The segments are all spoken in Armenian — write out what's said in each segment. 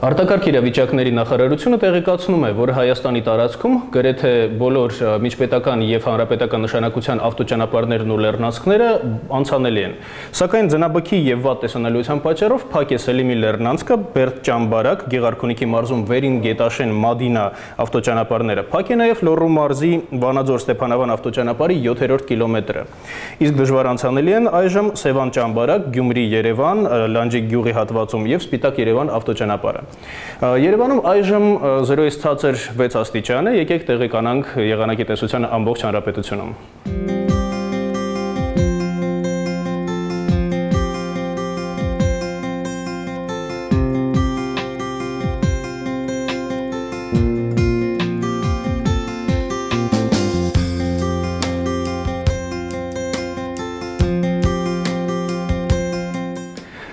Արտակարգ իրավիճակների նախարարությունը տեղեկացնում է, որ Հայաստանի տարածքում գրեթե բոլոր միջպետական եւ հանրապետական նշանակության ավտոճանապարհներն ու լեռնանցքները անցանելի են։ Սակայն ձնաբքի եւ վատ տեսանելիության պատճառով փակ է Սելիմի լեռնանցքը, Բերդ-Ճամբարակ, Գեղարքունիքի մարզում Վերին Գետաշեն Մադինա ավտոճանապարհները, փակ է նաեւ Լոռու մարզի Վանաձոր-Ստեփանավան ավտոճանապարհի 7-րդ կիլոմետրը։ Իսկ դժվար անցանելի են այժմ Սևան-Ճամբարակ, Գյումրի-Երևան, Լանջիկ գյուղի հատվածում եւ Սպիտակ-Երևան ավտոճանապարհը։ Երևանում այժմ 0-ից ցածր 6 աստիճան է, եկեք տեղեկանանք եղանակի տեսության ամբողջ հանրապետությունում։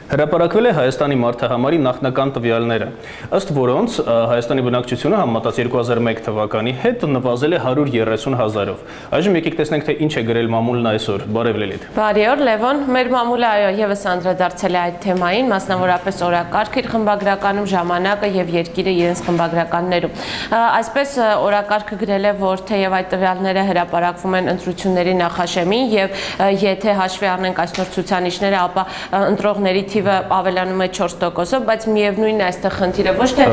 Հրապարակվել է Հայաստանի մարդահամարի նախնական տվյալները, ըստ որոնց Հայաստանի բնակչությունը համեմատած 2001 թվականի հետ նվազել է 130,000-ով։ Այժմ եկեք տեսնենք, թե ինչ է գրել մամուլն այսօր։ Բարև Լիլիթ։ Բարի օր, Լևոն։ Մեր մամուլը եւս անդրադարձել է այդ թեմային, մասնավորապես օրակարգ իր խմբագրականում, ժամանակը եւ երկիրը իրենց խմբագրականներում։ Այսպես օրակարգը գրել է, որ թեև այդ տվյալները հրապարակվում են ընտրությունների նախաշեմին եւ եթե հաշվի առնենք այսօր ցուցանիշները, ապա ընտրողների թիվը ավելանում է 4%-ով, բայց միևնույնն է այստեղ խնդիրը ոչ թե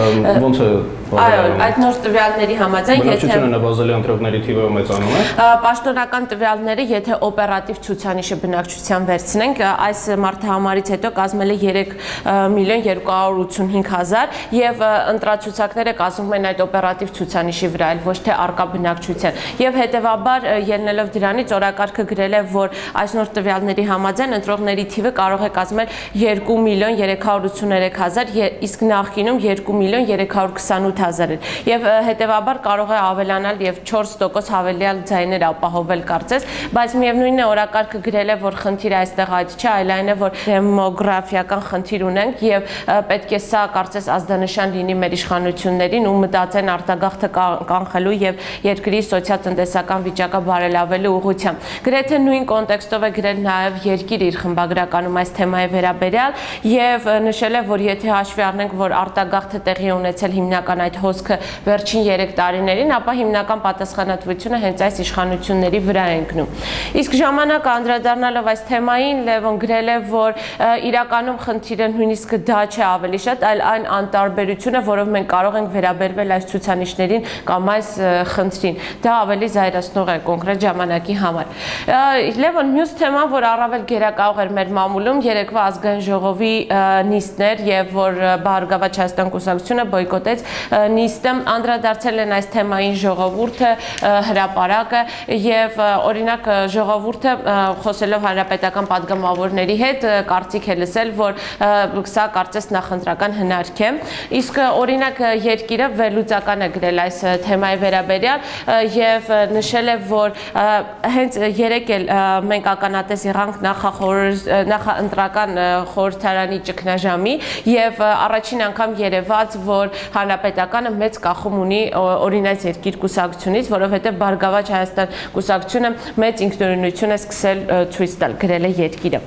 ոնց է այդ նոր տվյալների համաձայն բնակչությունը նվազել է, ընտրողների թիվը մեծանում է։ Պաշտոնական տվյալները, եթե օպերատիվ ցուցանիշը բնակչության վերցնենք, այս մարդահամարից հետո կազմել է 3,285,000 եւ ընտրացուցակները կազմում են այդ օպերատիվ ցուցանիշի վրա, այլ ոչ թե արկա բնակչության։ Եվ հետեւաբար ելնելով դրանից օրակարգը գրել է, որ այս նոր տվյալների համաձայն ընտրողների թիվը կարող է կազմել 2,383,000, իսկ նախկինում 2,328,000 էր եւ հետեւաբար կարող է ավելանալ եւ 4% հավելյալ ձայներ ապահովել կարծես, բայց միևնույնն է օրակարգը գրել է, որ խնդիրը այստեղ այդ չէ, այլ այն է, որ դեմոգրաֆիական խնդիր ունենք եւ պետք է սա կարծես ազդանշան լինի մեր իշխանություններին ու մտածեն արտագաղթը կանխելու եւ երկրի սոցիալ-տնտեսական վիճակը բարելավելու ուղղությամբ։ Գրեթե նույն կոնտեքստով է գրել նաեւ երկիր իր խմբագրականում այս թեմայի վերաբերյալ եւ նշել է, որ եթե հաշվի առնենք, որ արտագաղթը տեղի ունեցել հիմնական այդ հոսքը վերջին 3 տարիներին, ապա հիմնական պատասխանատվությունը հենց այս իշխանությունների վրա է ընկնում։ Իսկ ժամանակը անդրադառնալով այս թեմային, Լևոն գրել է, որ իրականում խնդիրը նույնիսկ դա չէ ավելի շատ, այլ այն անտարբերությունը, որով մենք կարող ենք վերաբերվել այս ցուցանիշներին կամ այս խնդրին։ Դա ավելի զայրացնող է կոնկրետ ժամանակի համար։ Լևոն, մյուս թեման, որ առավել գերակայող էր մեր մամուլում, երեկվա ազգային ժողովի նիստներ եւ որ Բարգավաճ Հայաստան կուսակցությունը բոյկոտեց նիստը, անդրադարձել են այս թեմային ժողովուրդը, հրապարակը եւ օրինակ ժողովուրդը խոսելով հանրապետական падգամավորների հետ կարծիք է լսել, որ սա կարծես նախընտրական հնարք է, իսկ օրինակ երկիրը վերլուծական է գրել այս թեմայի վերաբերյալ եւ նշել է, որ հենց երեք էլ մենք ականատես եղանք նախընտրական խորհրդարանի ճգնաժամի եւ առաջին անգամ երևաց, որ հանրապետականը մեծ կախում ունի օրինաց երկիր կուսակցությունից, որովհետեւ Բարգավաճ Հայաստան կուսակցությունը մեծ ինքնուրույնություն է սկսել ցույց տալ, գրել է երկիրը։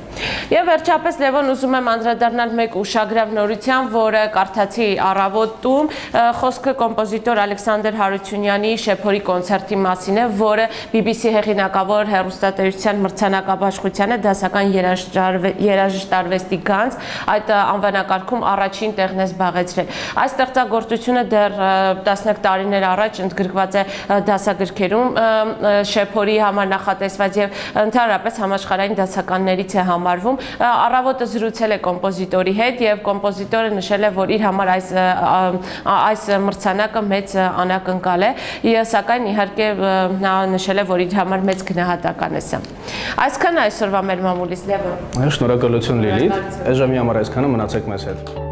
Եվ վերջապես Լևոն ուզում եմ անդրադառնալ մեկ ուշագրավ նորության, որը կարդացի առավոտում, խոսքը կոմպոզիտոր Ալեքսանդր Հարությունյանի շեփորի կոնցերտի մասին է, որը BBC հեղինակավոր հեռուստատեսության մրցանակաբաշխությանը դասական երաժշտարվեստի գանձ այդ անվանակարգում առաջին տեղն է զբաղեցրել։ Այս ստեղծագործությունը դեռ տասնյակ տարիներ առաջ ընդգրկված է դասագրքերում շեփորի համար նախատեսված եւ ընդհանրապես համաշխարհային դասականներից է համարվում։ Առավոտը զրուցել է կոմպոզիտորի հետ եւ կոմպոզիտորը նշել է, որ իր համար այս մրցանակը մեծ անակնկալ է, սակայն իհարկե նա նշել է, որ իր համար մեծ գնահատական է սա։ Այսքան այսօրվա մեր մամուլից, Լևոն։ Շնորհակալություն Լիլիթ։ Այս ժամի համար այսքանը, մնացեք մեզ հետ։